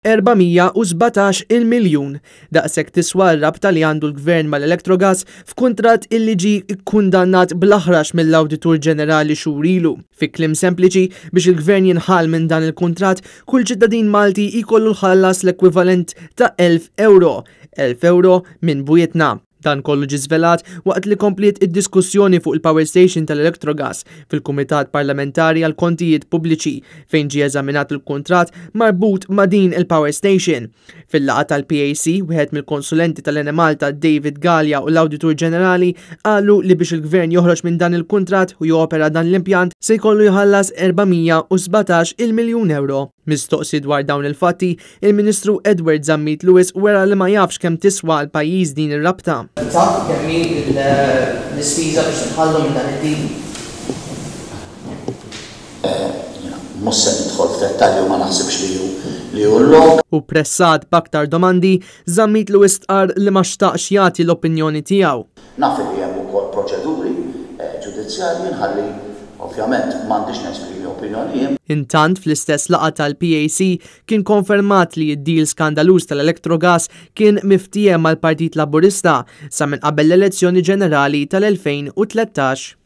417 il miljun. Daqshekk tiswa r-rabta li għandu l-Gvern mal-Electrogas f'kuntratt illi ġie kkundannat bl-aħrax mill-Awditur Ġenerali xhur ilu. Fi kliem sempliċi, biex il-Gvern jinħall minn dan il-kuntratt, kull ċittadin Malti jkollu jħallas l-ekwivalent ta' 1,000 ewro. 1,000 ewro minn bwietna. Dan kollu ġie żvelat waqt li kompliet id-diskussjoni fuq il-power station tal-Electrogas fil-Kumitat Parlamentari għall-Kontijiet Pubbliċi fejn ġie eżaminat il-kuntratt marbut ma' din il-power station. Fil-laqgħa tal-PAC, wieħed mill-konsulenti tal-Enemalta David Galea u l-Awditur Ġenerali qalu li biex il-Gvern joħroġ minn dan il-kuntratt u jopera dan l-impjant se jkollu jħallas 417 il-miljun ewro. Mistoqsi dwar dawn il-fatti, il-Ministru Edward Zammit Lewis wera li ma jafx kemm tiswa għall-pajjiż din ir-rabta. Taf kemm hi l-ispiża biex tinħallu minn dan id-deal? Jiena mhux se nidħol f'dettalji u ma naħsibx li hu li hu l-lok. U pressat b'aktar domandi, Zammit Lewis stqarr li ma xtaqx jagħti l-opinjoni tiegħu. Naf li hemm ukoll proċeduri ġudizzjarji, nħalli, ovvjament, m'għandix nesprimi opinjoni jien. Intant, fl-istess laqgħa tal-PAC kien konfermat li d-deal skandaluż tal-Electrogas kien miftiehem mal-Partit Laburista sa minn qabel l-elezzjoni ġenerali tal-2013.